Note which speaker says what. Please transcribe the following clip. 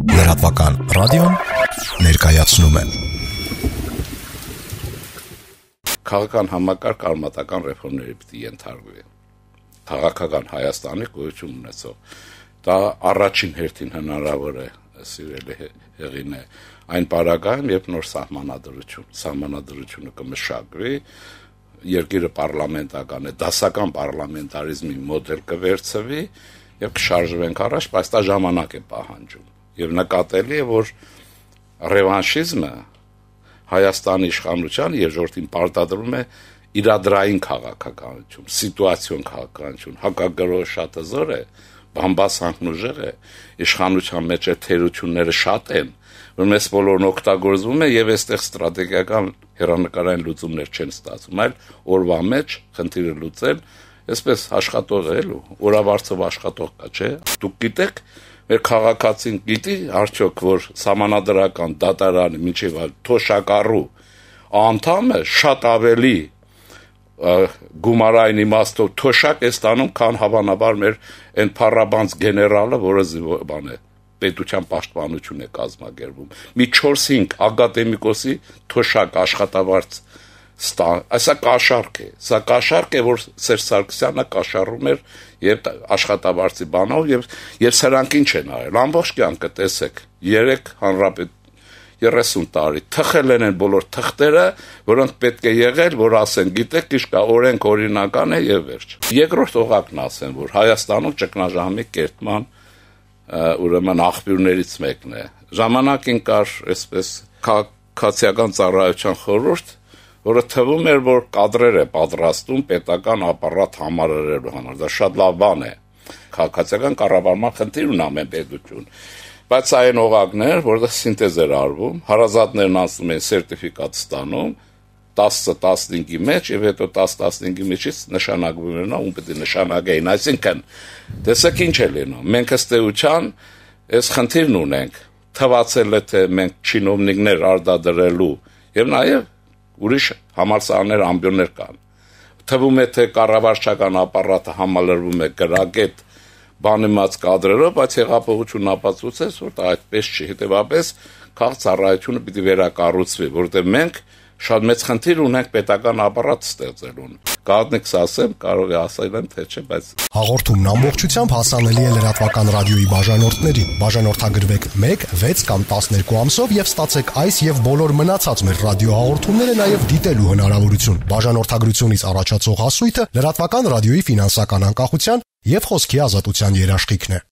Speaker 1: Լրատվական ռադիոն ներկայացնում է
Speaker 2: Քաղաքական համակարգ արմատական ռեֆորմների պիտի ենթարկվի։ Քաղաքական Հայաստանի գոյություն ունեցող դա առաջին հերթին հնարավոր է սիրելի հեղինե այն պարագայում, երբ նոր սահմանադրությունը կմշակվի, երկիրը պարլամենտական է, դասական պարլամենտարիզմի մոդել կվերցվի եւ կշարժվենք առաջ, բայց դա ժամանակ է պահանջում։ Եվ նկատելի է, որ ռևանշիզմը Հայաստանի իշխանության երկրորդին պարտադրում է իրադրային քաղաքականություն, սիտուացիոն քաղաքականություն, հակագրոհը շատ հզոր է, բամբասանքն ուժեղ է, իշխանության մեջ թերությունները շատ են, որ մեզ բոլորն օգտագործվում է եւ այստեղ ստրատեգիական հերանեկարային լուծումներ չեն ստացվում, այլ օրվա մեջ խնդիրը լուծել, այսպես աշխատող է, օրավարձով աշխատող կա, չէ՞։ Դուք գիտեք, մեր քաղաքացին գիտի արդյոք, որ սահմանադրական դատարանի միջև թոշակառու անդամը շատ ավելի գումարային իմաստով թոշակ է ստանում, քան հավանաբար մեր այն փառաբանց գեներալը, որը բան է, պետության պաշտպանություն է կազմակերպում։ Մի 4-5 ակադեմիկոսի թոշակ աշխատավարձ Սա կաշառք է, որ Սերժ Սարգսյանը կաշառում էր եւ աշխատավարձի բանով եւ սրանք ինչ են արել։ Ամբողջ կյանքը տեսեք, 3 հանրապետ 30 տարի թխել են բոլոր թղթերը, որոնք պետք է եղել, որ ասեն, գիտեք, իշկա օրենք օրինական է եւ վերջ։ Երկրորդ օղակն ասեն, որ Հայաստանում ճգնաժամի կերտման ուրեմն աղբյուրներից մեկն է։ Ժամանակին կար այսպես քաղաքացիական ծառայության խորհուրդ, որը թվում էր, որ կադրեր է պատրաստում պետական ապարատ համարելու համար։ Դա շատ լավ բան է։ Քաղաքացիական կառավարման խնդիր ունի ամեն պետություն։ Բայց այն օղակներ, որտեղ սինտեզ էր արվում, հարազատներն անցնում են սերտիֆիկատ ստանում 10-15-ի մեջ եւ հետո 10-15-ի մեջից նշանակվում էր նա ում պետք է նշանակեին, այսինքն տեսեք ինչ է լինում։ Մենք ըստ էության այս խնդիրն ունենք, թվացել է թե մենք չինովնիկներ արտադրելու եւ նաեւ ուրիշ համալսարաններ ամբիոններ կան։ Թվում է թե կառավարչական ապարատը համալրվում է գրագետ բանիմաց կադրերով, բայց հեղափոխությունն ապացուցեց, որ դա այդպես չի։ Հետևաբար քաղաքացիությունը պիտի վերակառուցվի, որտեղ մենք շատ մեծ խնդիր ունենք պետական ապարատ ստեղծելուն։ Կարողնեք ասեմ, կարող է ասել եմ, թե չէ, բայց
Speaker 1: հաղորդումն ամբողջությամբ հասանելի է լրատվական ռադիոյի բաժանորդներին։ Բաժանորդագրվեք 1, 6 կամ 12 ամսով եւ ստացեք այս եւ բոլոր մնացած մեր ռադիոհաղորդումները նաեւ դիտելու հնարավորություն։ Բաժանորդագրությունից առաջացող հասույթը լրատվական ռադիոյի ֆինանսական անկախության եւ խոսքի ազատության երաշխիքն է։